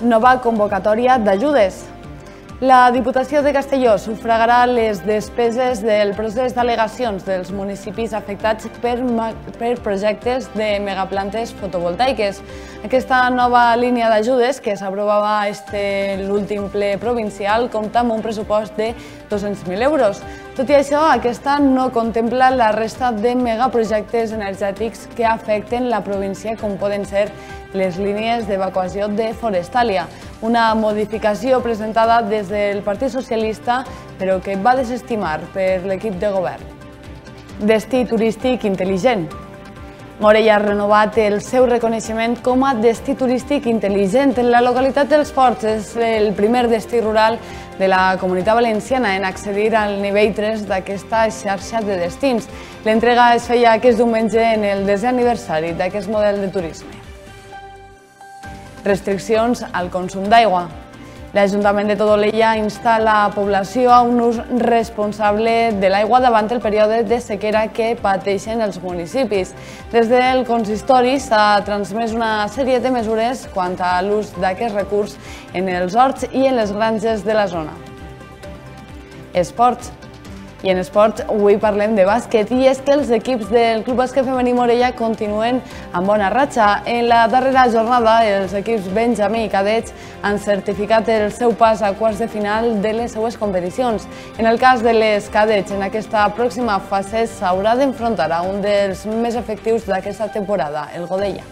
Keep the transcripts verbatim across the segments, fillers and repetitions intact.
Nova convocatòria d'ajudes. La Diputació de Castelló sufragarà les despeses del procés d'al·legacions dels municipis afectats per, per projectes de megaplantes fotovoltaiques. Aquesta nova línia d'ajudes, que s'aprovava este l'últim ple provincial, compta amb un pressupost de dos-cents mil euros. Tot i això, aquesta no contempla la resta de megaprojectes energètics que afecten la província, com poden ser les línies d'evacuació de Forestalia, una modificació presentada des del Partit Socialista, però que va desestimar per l'equip de govern. Destí turístic intel·ligent. Morella ha renovat el seu reconeixement com a destí turístic intel·ligent. La localitat dels Forts és el primer destí rural de la Comunitat Valenciana en accedir al nivell tres d'aquesta xarxa de destins. L'entrega es feia aquest diumenge en el desè aniversari d'aquest model de turisme. Restriccions al consum d'aigua. L'Ajuntament de Todolella insta la població a un ús responsable de l'aigua davant el període de sequera que pateixen els municipis. Des del consistori s'ha transmès una sèrie de mesures quant a l'ús d'aquest recurs en els horts i en les granges de la zona. Esports. I en esports avui parlem de bàsquet, i és que els equips del Club Bàsquet Femení Morella continuen amb bona ratxa. En la darrera jornada, els equips benjamí i cadets han certificat el seu pas a quarts de final de les seues competicions. En el cas de les cadets, en aquesta pròxima fase s'haurà d'enfrontar a un dels més efectius d'aquesta temporada, el Godella.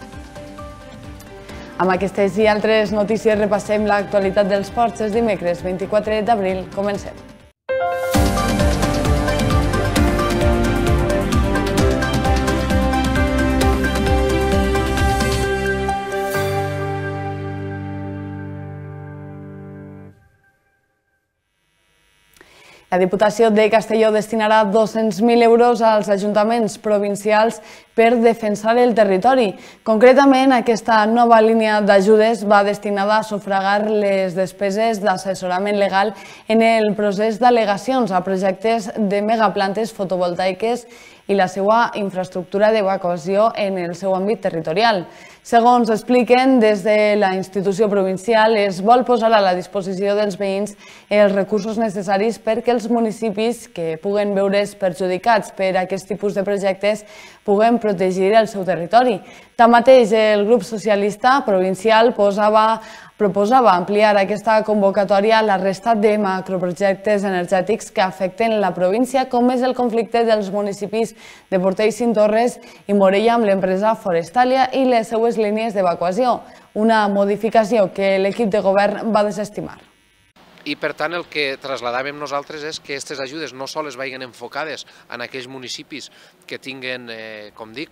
Amb aquestes i altres notícies repassem l'actualitat dels esports. És dimecres vint-i-quatre d'abril. Comencem. La Diputació de Castelló destinarà dos-cents mil euros als ajuntaments provincials per defensar el territori. Concretament, aquesta nova línia d'ajudes va destinada a sufragar les despeses d'assessorament legal en el procés d'al·legacions a projectes de megaplantes fotovoltaiques i la seva infraestructura d'evacuació en el seu àmbit territorial. Segons expliquen, des de la institució provincial es vol posar a la disposició dels veïns els recursos necessaris perquè els municipis que puguen veure's perjudicats per aquest tipus de projectes puguen protegir el seu territori. Tanmateix, el grup socialista provincial posava proposava ampliar aquesta convocatòria a la resta de macroprojectes energètics que afecten la província, com és el conflicte dels municipis de Portell-Cintorres i Morella amb l'empresa Forestalia i les seues línies d'evacuació, una modificació que l'equip de govern va desestimar. I per tant el que traslladàvem nosaltres és que aquestes ajudes no sols vagin enfocades en aquells municipis que tinguen, com dic,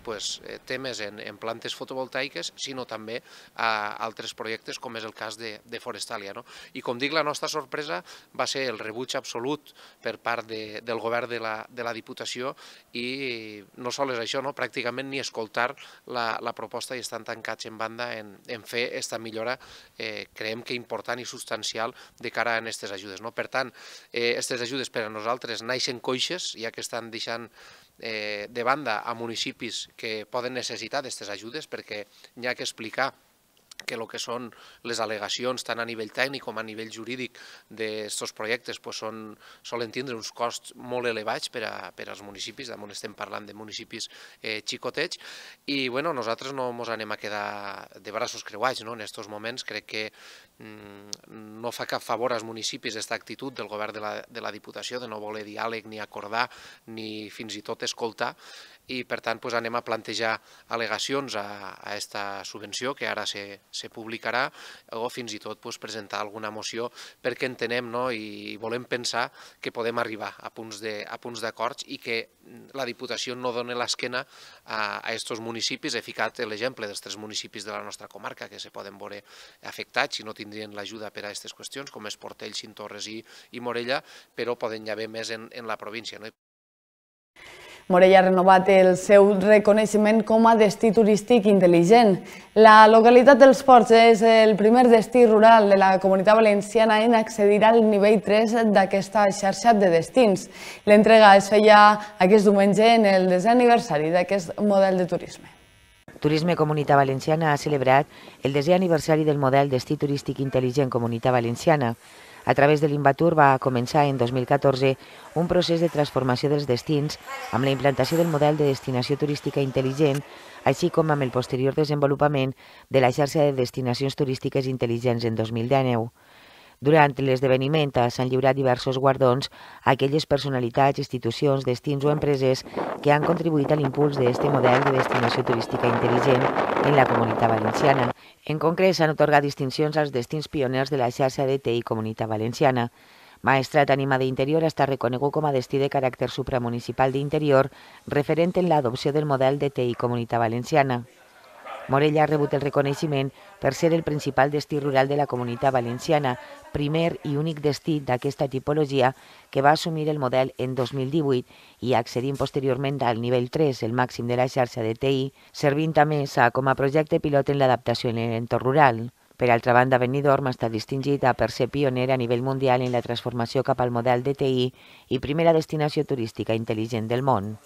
temes en plantes fotovoltaiques, sinó també a altres projectes com és el cas de Forestalia. I com dic, la nostra sorpresa va ser el rebuig absolut per part del govern de la Diputació i no sols això, pràcticament ni escoltar la proposta i estan tancats en banda en fer aquesta millora, creiem que important i substancial de cara a aquestes ajudes. Per tant, aquestes ajudes per a nosaltres naixen coixes, ja que estan deixant de banda a municipis que poden necessitar d'aquestes ajudes, perquè hi ha que explicar que el que són les al·legacions tant a nivell tècnic com a nivell jurídic d'aquests projectes solen tindre uns costs molt elevats per als municipis, on estem parlant de municipis xicotets, i nosaltres no ens anem a quedar de braços creuats en aquests moments. Crec que no fa cap favor als municipis aquesta actitud del govern de la Diputació de no voler diàleg ni acordar ni fins i tot escoltar, i per tant anem a plantejar al·legacions a aquesta subvenció que ara se publicarà, o fins i tot presentar alguna moció perquè entenem i volem pensar que podem arribar a punts d'acords i que la Diputació no doni l'esquena a aquests municipis. He ficat l'exemple dels tres municipis de la nostra comarca que se poden veure afectats si no tindrien l'ajuda per a aquestes qüestions, com és Portell, Cintorres i Morella, però poden haver més en la província. Morella ha renovat el seu reconeixement com a destí turístic intel·ligent. La localitat dels Ports és el primer destí rural de la Comunitat Valenciana en accedir al nivell tres d'aquesta xarxa de destins. L'entrega es feia aquest diumenge en el desè aniversari d'aquest model de turisme. Turisme Comunitat Valenciana ha celebrat el desè aniversari del model destí turístic intel·ligent Comunitat Valenciana. A través de l'Invatur va començar en dos mil catorze un procés de transformació dels destins amb la implantació del model de destinació turística intel·ligent, així com amb el posterior desenvolupament de la xarxa de destinacions turístiques intel·ligents en dos mil dinou. Durant l'esdeveniment s'han lliurat diversos guardons a aquelles personalitats, institucions, destins o empreses que han contribuït a l'impuls d'aquest model de destinació turística intel·ligent en la Comunitat Valenciana. En concret, s'han atorgat distincions als destins pioners de la xarxa de T I Comunitat Valenciana. Maestrat Ànima d'Interior està reconegut com a destí de caràcter supramunicipal d'Interior, referent en l'adopció del model de T I Comunitat Valenciana. Morella ha rebut el reconeixement per ser el principal destí rural de la Comunitat Valenciana, primer i únic destí d'aquesta tipologia que va assumir el model en dos mil divuit i accedint posteriorment al nivell tres, el màxim de la xarxa de T I, servint a més com a projecte pilot en l'adaptació en l'entorn rural. Per altra banda, Benidorm està distingit per ser pioner a nivell mundial en la transformació cap al model de T I i primera destinació turística intel·ligent del món.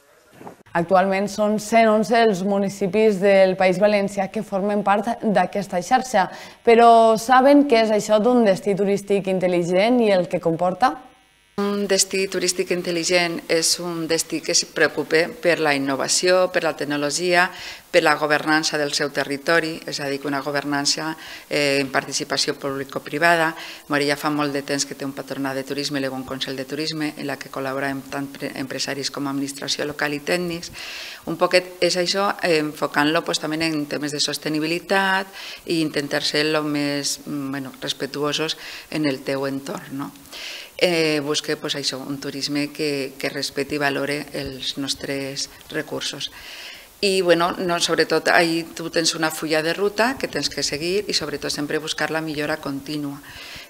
Actualment són cent onze els municipis del País Valencià que formen part d'aquesta xarxa, però saben què és això d'un destí turístic intel·ligent i el que comporta? Un destí turístic intel·ligent és un destí que es preocupa per la innovació, per la tecnologia, per la governança del seu territori, és a dir, que una governança en participació público-privada. Morella fa molt de temps que té un patronat de turisme, un Consell de Turisme, en la que col·laboren tant empresaris com administració local i tècnics. Un poquet és això, enfocant-lo també en temes de sostenibilitat i intentar ser el més respetuosos en el teu entorn. Busca un turisme que respecti i valore els nostres recursos. I sobretot tu tens una fulla de ruta que tens que seguir i sobretot sempre buscar la millora contínua.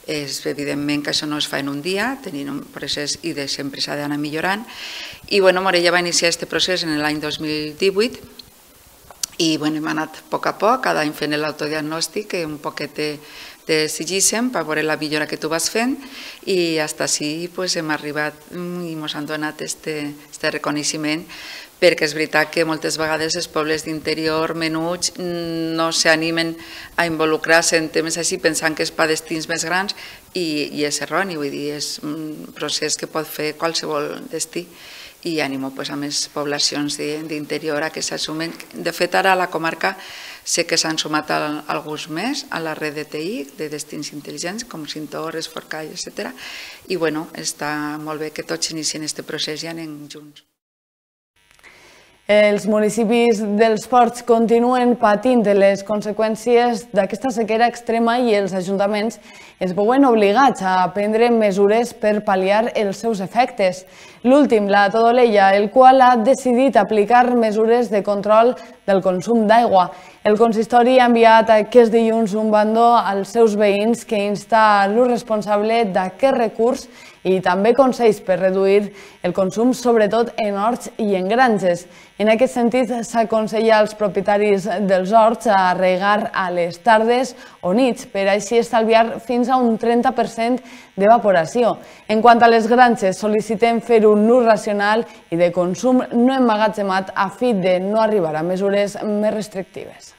Evidentment que això no es fa en un dia, tenim un procés i sempre s'ha d'anar millorant. I Morella va iniciar aquest procés en l'any dos mil divuit i hem anat a poc a poc, cada any fent l'autodiagnòstic, un poquet de sigíssim per veure la millora que tu vas fent i fins així hem arribat i ens han donat aquest reconeixement, perquè és veritat que moltes vegades els pobles d'interior menuts no s'animen a involucrar-se en temes així pensant que és per destins més grans i és erroni, vull dir, és un procés que pot fer qualsevol destí i animo a més poblacions d'interior a que s'assumen. De fet, ara a la comarca sé que s'han sumat alguns més a la red de T I, de destins intel·ligents, com Cintores, Forcall, etcètera. I està molt bé que tots inicien aquest procés i anem junts. Els municipis dels ports continuen patint les conseqüències d'aquesta sequera extrema i els ajuntaments es veuen obligats a prendre mesures per pal·liar els seus efectes. L'últim, la Todolella, el qual ha decidit aplicar mesures de control del consum d'aigua. El consistori ha enviat aquest dilluns un bandó als seus veïns que insta l'ús responsable d'aquest recurs i també consells per reduir el consum, sobretot en horts i en granges. En aquest sentit, s'aconsella als propietaris dels horts a regar a les tardes o nits, per així estalviar fins a un trenta per cent d'evaporació. En quant a les granges, sol·licitem fer un ús racional i de consum no emmagatzemat a fi de no arribar a mesures més restrictives.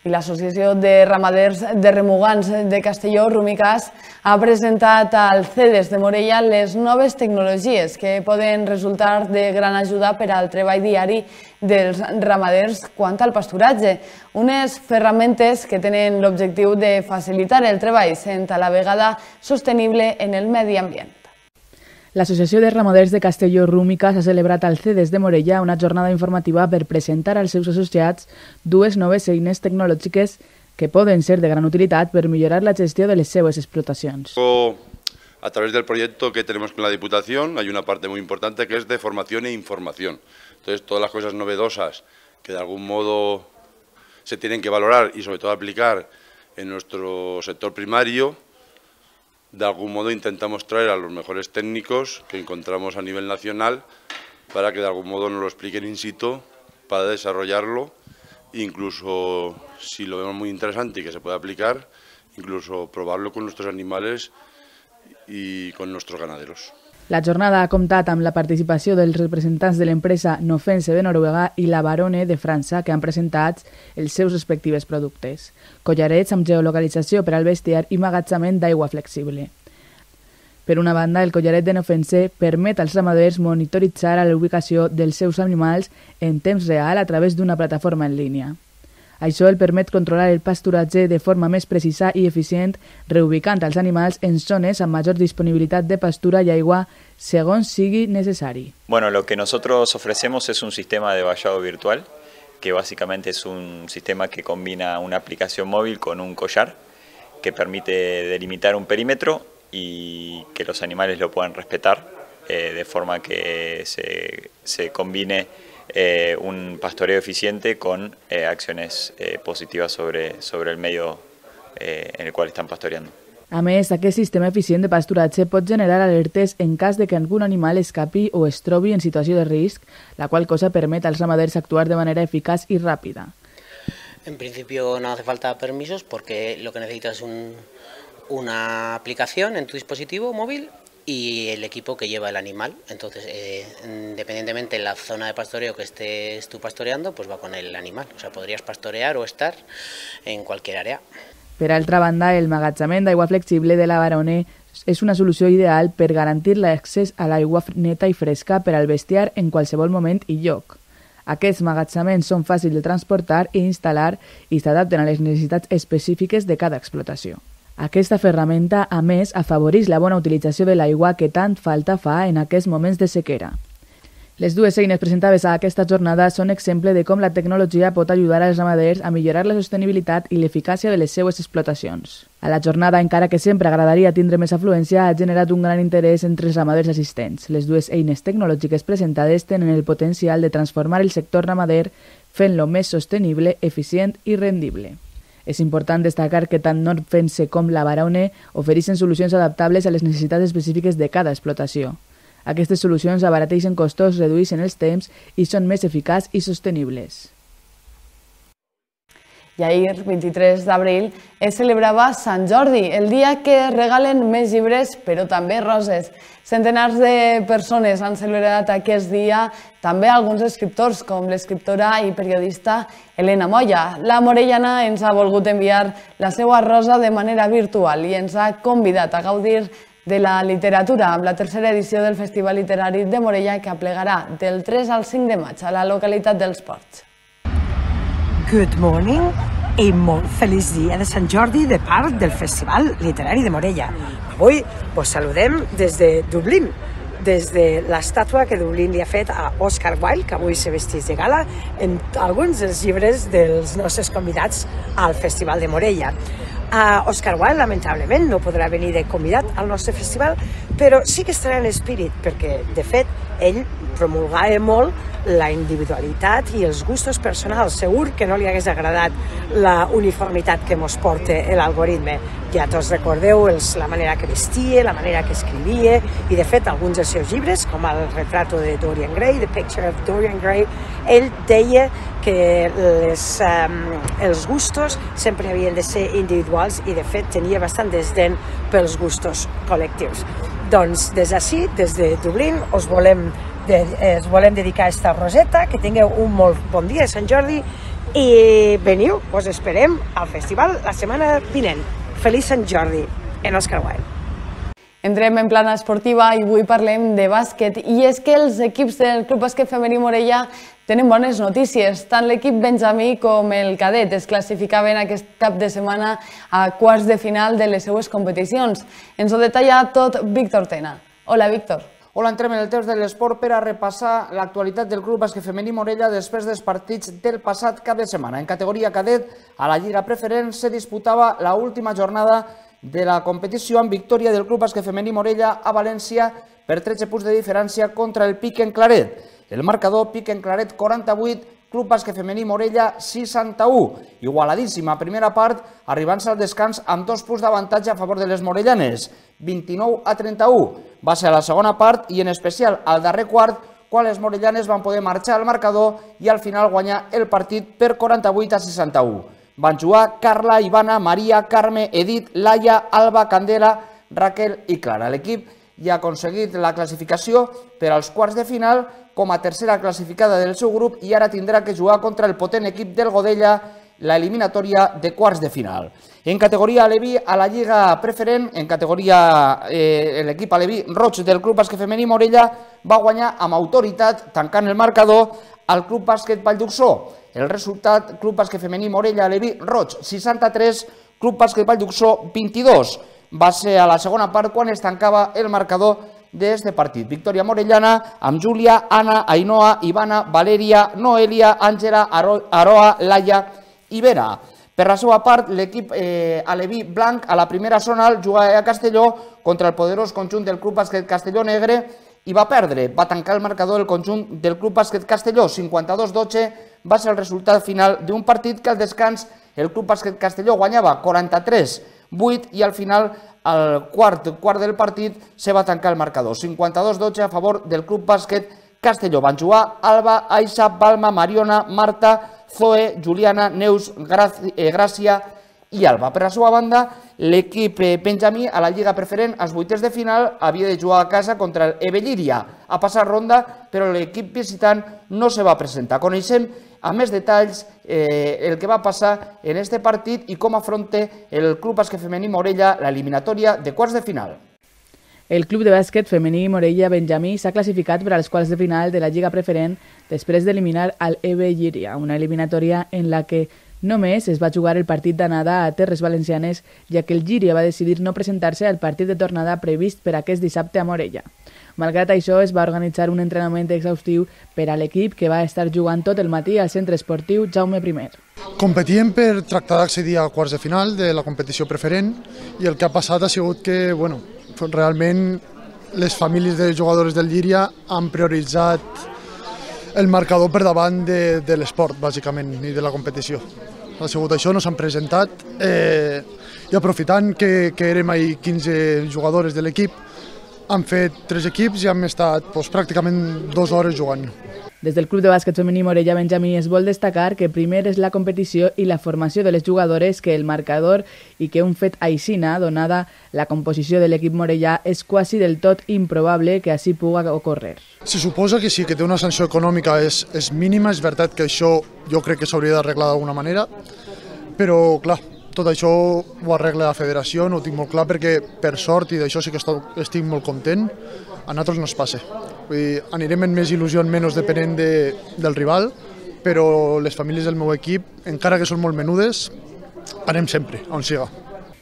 I l'Associació de Ramaders de Remugants de Castelló, Rumicas, ha presentat al CEDES de Morella les noves tecnologies que poden resultar de gran ajuda per al treball diari dels ramaders quant al pasturatge. Unes ferramentes que tenen l'objectiu de facilitar el treball sent a la vegada sostenible en el medi ambient. L'Associació de Ramaders de Castelló Rumicas ha celebrat al CEDES de Morella una jornada informativa per presentar als seus associats dues noves eines tecnològiques que poden ser de gran utilitat per millorar la gestió de les seues explotacions. A través del proyecto que tenemos con la Diputación hay una parte muy importante que es de formación e información. Entonces, todas las cosas novedosas que de algún modo se tienen que valorar y sobre todo aplicar en nuestro sector primario, de algún modo intentamos traer a los mejores técnicos que encontramos a nivel nacional para que de algún modo nos lo expliquen in situ, para desarrollarlo, incluso si lo vemos muy interesante y que se puede aplicar, incluso probarlo con nuestros animales y con nuestros ganaderos. La jornada ha comptat amb la participació dels representants de l'empresa Nofense de Noruega i la Barone de França, que han presentat els seus respectives productes. Collarets amb geolocalització per al bestiar i magatzament d'aigua flexible. Per una banda, el collaret de Nofense permet als ramaders monitoritzar la ubicació dels seus animals en temps real a través d'una plataforma en línia. Això el permet controlar el pasturatge de forma més precisa i eficient, reubicant els animals en zones amb major disponibilitat de pastura y aigua segons sigui necessari. Bueno, lo que nosotros ofrecemos es un sistema de vallado virtual, que básicamente es un sistema que combina una aplicación móvil con un collar, que permite delimitar un perímetro y que los animales lo puedan respetar, eh, de forma que se, se combine Eh, un pastoreo eficiente con eh, acciones eh, positivas sobre, sobre el medio eh, en el qual estan pastoreando. A més, aquest sistema eficient de pasturatge pot generar alertes en cas de que algun animal escapi o es trobi en situació de risc, la qual cosa permet als ramaders actuar de manera eficaç y rápida. En principio no hace falta permisos porque lo que necesitas es un, una aplicación en tu dispositivo móvil y el equipo que lleva el animal. Entonces, eh, independientemente de la zona de pastoreo que estés tú pastoreando, pues va con el animal. O sea, podrías pastorear o estar en cualquier área. Per altra banda, el magatzament d'aigua flexible de la Barone és una solució ideal per garantir l'accés a l'aigua neta i fresca per al bestiar en qualsevol moment i lloc. Aquests magatzaments són fàcils de transportar i instal·lar i s'adapten a les necessitats específiques de cada explotació. Aquesta ferramenta, a més, afavoreix la bona utilització de l'aigua que tant falta fa en aquests moments de sequera. Les dues eines presentades a aquesta jornada són exemple de com la tecnologia pot ajudar als ramaders a millorar la sostenibilitat i l'eficàcia de les seues explotacions. A la jornada, encara que sempre agradaria tindre més afluència, ha generat un gran interès entre els ramaders assistents. Les dues eines tecnològiques presentades tenen el potencial de transformar el sector ramader fent-lo més sostenible, eficient i rendible. És important destacar que tant Nofense com la Barone ofereixen solucions adaptables a les necessitats específiques de cada explotació. Aquestes solucions abarateixen costos, redueixen els temps i són més eficaços i sostenibles. I ahir, vint-i-tres d'abril, es celebrava Sant Jordi, el dia que regalen més llibres, però també roses. Centenars de persones han celebrat aquest dia, també alguns escriptors, com l'escriptora i periodista Elena Moya. La morellana ens ha volgut enviar la seva rosa de manera virtual i ens ha convidat a gaudir de la literatura amb la tercera edició del Festival Literari de Morella, que aplegarà del tres al cinc de maig a la localitat dels Ports. Good morning i molt feliç dia de Sant Jordi de part del Festival Literari de Morella. Avui vos saludem des de Dublín, des de l'estàtua que Dublín li ha fet a Oscar Wilde, que avui se vestís de gala en alguns dels llibres dels nostres convidats al Festival de Morella. Uh, Oscar Wilde, lamentablement, no podrà venir de convidat al nostre festival, però sí que estarà en espírit, perquè, de fet, ell promulgava molt la individualitat i els gustos personals. Segur que no li hagués agradat la uniformitat que mos porta l'algoritme. Ja tots recordeu els, la manera que vestia, la manera que escrivia, i de fet alguns dels seus llibres, com el retrato de Dorian Gray, The Picture of Dorian Gray, ell deia que les, um, els gustos sempre havien de ser individuals i de fet tenia bastant desdent pels gustos col·lectius. Doncs des d'ací, des de Dublín, us volem, de, eh, us volem dedicar aquesta roseta, que tingueu un molt bon dia de Sant Jordi i veniu, us esperem al festival la setmana vinent. Feliç Sant Jordi en Oscar Wilde. Entrem en plana esportiva i avui parlem de bàsquet, i és que els equips del Club Bàsquet Femení Morella tenen bones notícies. Tant l'equip benjamí com el cadet es classificaven aquest cap de setmana a quarts de final de les seues competicions. Ens ho detalla tot Víctor Tena. Hola, Víctor. Hola, entrem en el temps de l'esport per a repassar l'actualitat del Club Bàsquet Femení Morella després dels partits del passat cap de setmana. En categoria cadet, a la Lliga Preferent se disputava l'última jornada de la competició amb victòria del Club Bàsquet Femení Morella a València per tretze punts de diferència contra el Piquen Claret. El marcador Piquen Claret quaranta-vuit, Club Bàsquet Femení Morella seixanta-u. Igualadíssima primera part, arribant-se al descans amb dos punts d'avantatge a favor de les morellanes, vint-i-nou a trenta-u. Va ser a la segona part i en especial al darrer quart, quan les morellanes van poder marxar al marcador i al final guanyar el partit per quaranta-vuit a seixanta-u. Van jugar Carla, Ivana, Maria, Carme, Edith, Laia, Alba, Candela, Raquel i Clara. L'equip i ha aconseguit la classificació per als quarts de final com a tercera classificada del seu grup i ara tindrà que jugar contra el potent equip del Godella la eliminatòria de quarts de final. En categoria aleví, a la Lliga Preferent, en categoria eh, l'equip aleví roig del Club Bàsquet Femení Morella va guanyar amb autoritat, tancant el marcador, al Club Bàsquet Valldhuxó. El resultat, Club Bàsquet Femení Morella aleví roig seixanta-tres, Club Bàsquet Valldhuxó vint-i-dos. Va ser a la segona part quan es tancava el marcador d'aquest partit. Victòria morellana amb Júlia, Anna, Ainhoa, Ivana, Valeria, Noelia, Àngela, Aroa, Laia i Vera. Per la seva part, l'equip eh, aleví blanc a la primera zona jugava a Castelló contra el poderós conjunt del Club Bàsquet Castelló Negre i va perdre. Va tancar el marcador el conjunt del Club Bàsquet Castelló. cinquanta-dos dotze va ser el resultat final d'un partit que al descans el Club Bàsquet Castelló guanyava quaranta-tres vuit i al final, al quart quart del partit, se va tancar el marcador. cinquanta-dos dotze a favor del Club Bàsquet Castelló. Van jugar Alba, Aixa, Balma, Mariona, Marta, Zoe, Juliana, Neus, Gràcia i Alba. Per la seva banda, l'equip benjamí a la Lliga Preferent als vuitens de final havia de jugar a casa contra el Ebelliria. Ha passat ronda, però l'equip visitant no se va presentar. Coneixem a més detalls eh, el que va passar en aquest partit i com afronta el Club Bàsquet Femení Morella l'eliminatòria de quarts de final. El Club de Bàsquet Femení Morella Benjamí s'ha classificat per als quarts de final de la Lliga Preferent després d'eliminar al Ebelliria, una eliminatòria en la que només es va jugar el partit d'anada a Terres Valencianes, ja que el Llíria va decidir no presentar-se al partit de tornada previst per aquest dissabte a Morella. Malgrat això, es va organitzar un entrenament exhaustiu per a l'equip que va estar jugant tot el matí al centre esportiu Jaume primer. Competíem per tractar d'accedir a quarts de final de la competició preferent i el que ha passat ha sigut que, bueno, realment les famílies de jugadores del Llíria han prioritzat el marcador per davant de, de l'esport, bàsicament, i de la competició. Ha sigut això, no s'han presentat eh, i aprofitant que, que érem ahir quinze jugadores de l'equip, han fet tres equips i hem estat doncs, pràcticament dues hores jugant. Des del Club de Bàsquet Femení Morella Benjamí es vol destacar que primer és la competició i la formació de les jugadores que el marcador i que un fet aixina, donada la composició de l'equip morellà, és quasi del tot improbable que així puga ocórrer. Se suposa que sí, que té una sanció econòmica és, és mínima, és veritat que això jo crec que s'hauria d'arreglar d'alguna manera, però clar, tot això ho arregla la federació, no ho tinc molt clar perquè per sort, i d'això sí que estic molt content, a nosaltres no es passa. Vull dir, anirem amb més il·lusió, menys depenent de, del rival, però les famílies del meu equip, encara que són molt menudes, anem sempre, on siga.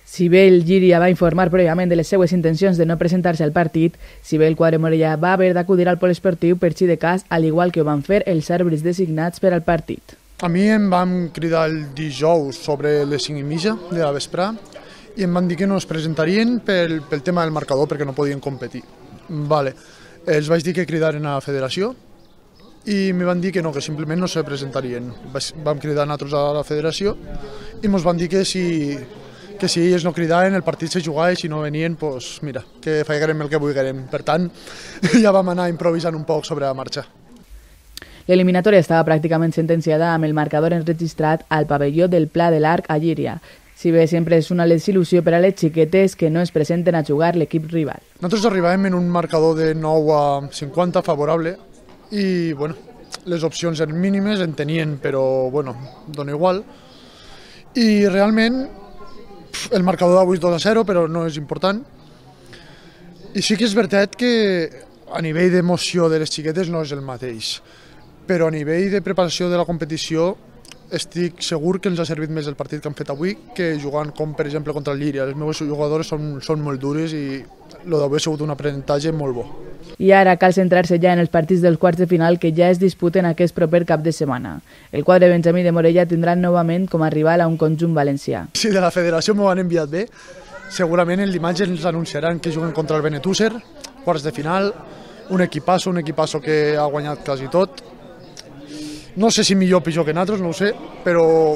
Si bé el Llíria va informar prèviament de les seues intencions de no presentar-se al partit, si bé el quadre morellà va haver d'acudir al poliesportiu per si de cas, al igual que ho van fer els àrbitres designats per al partit. A mi em van cridar el dijous sobre les cinc i mitja de la vesprà i em van dir que no es presentarien pel, pel tema del marcador perquè no podien competir. Vale. Els vaig dir que cridaren a la federació i me van dir que no, que simplement no se presentarien. Vam cridar nosaltres a la federació i ens van dir que si, que si ells no cridaven el partit se jugava i si no venien, doncs mira, que faiguem el que vulguem. Per tant, ja vam anar improvisant un poc sobre la marxa. L'eliminatòria estava pràcticament sentenciada amb el marcador enregistrat al pavelló del Pla de l'Arc a Llíria. Si bé sempre és una desil·lusió per a les xiquetes que no es presenten a jugar l'equip rival. Nosaltres arribàvem en un marcador de nou a cinquanta favorable i bueno, les opcions eren mínimes, en tenien, però bueno, dona igual. I realment el marcador d'avui és dos a zero, però no és important. I sí que és veritat que a nivell d'emoció de les xiquetes no és el mateix, però a nivell de preparació de la competició estic segur que ens ha servit més el partit que han fet avui que jugant com per exemple contra el Llíria. Les meves jugadores són, són molt dures i el d'avui ha sigut un aprenentatge molt bo. I ara cal centrar-se ja en els partits dels quarts de final que ja es disputen aquest proper cap de setmana. El quadre benjamí de Morella tindrà novament com a rival a un conjunt valencià. Si de la federació m'ho han enviat bé, segurament el dimarts ens anunciaran que juguen contra el Benetússer, quarts de final, un equipasso, un equipasso que ha guanyat quasi tot. No sé si millor o pitjor que nosaltres, no ho sé, però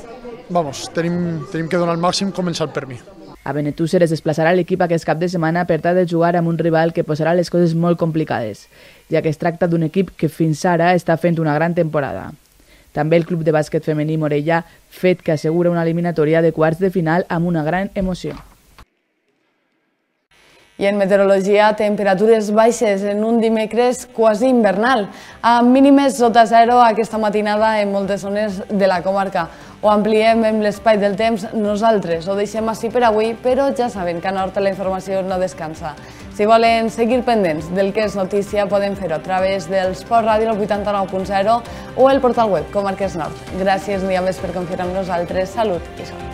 vamos, tenim, tenim que donar el màxim començant per mi. A Benetússer es desplaçarà l'equip aquest cap de setmana per tal de jugar amb un rival que posarà les coses molt complicades, ja que es tracta d'un equip que fins ara està fent una gran temporada. També el Club de Bàsquet Femení Morella, fet que assegura una eliminatòria de quarts de final amb una gran emoció. I en meteorologia, temperatures baixes en un dimecres quasi invernal, amb mínimes sota zero aquesta matinada en moltes zones de la comarca. Ho ampliem amb l'espai del temps nosaltres, ho deixem així per avui, però ja saben que a Nord la informació no descansa. Si volen seguir pendents del que és notícia, poden fer-ho a través del Sport Ràdio vuitanta-nou punt zero o el portal web Comarques Nord. Gràcies un dia més per confiar en nosaltres. Salut i sort.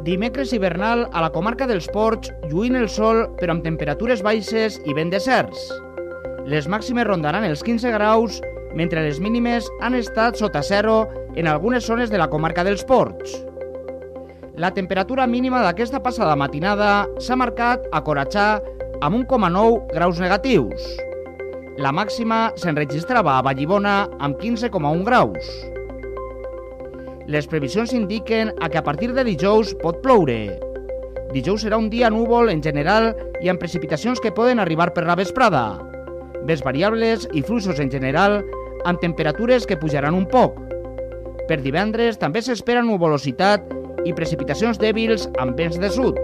Dimecres hivernal a la comarca dels Ports, lluint el sol però amb temperatures baixes i vent deserts. Les màximes rondaran els quinze graus, mentre les mínimes han estat sota zero en algunes zones de la comarca dels Ports. La temperatura mínima d'aquesta passada matinada s'ha marcat a Coratxà amb un coma nou graus negatius. La màxima s'enregistrava a Vallibona amb quinze coma un graus. Les previsions indiquen que a partir de dijous pot ploure. Dijous serà un dia núvol en general i amb precipitacions que poden arribar per la vesprada. Vents variables i fluixos en general, amb temperatures que pujaran un poc. Per divendres també s'espera nuvolositat i precipitacions dèbils amb vents de sud.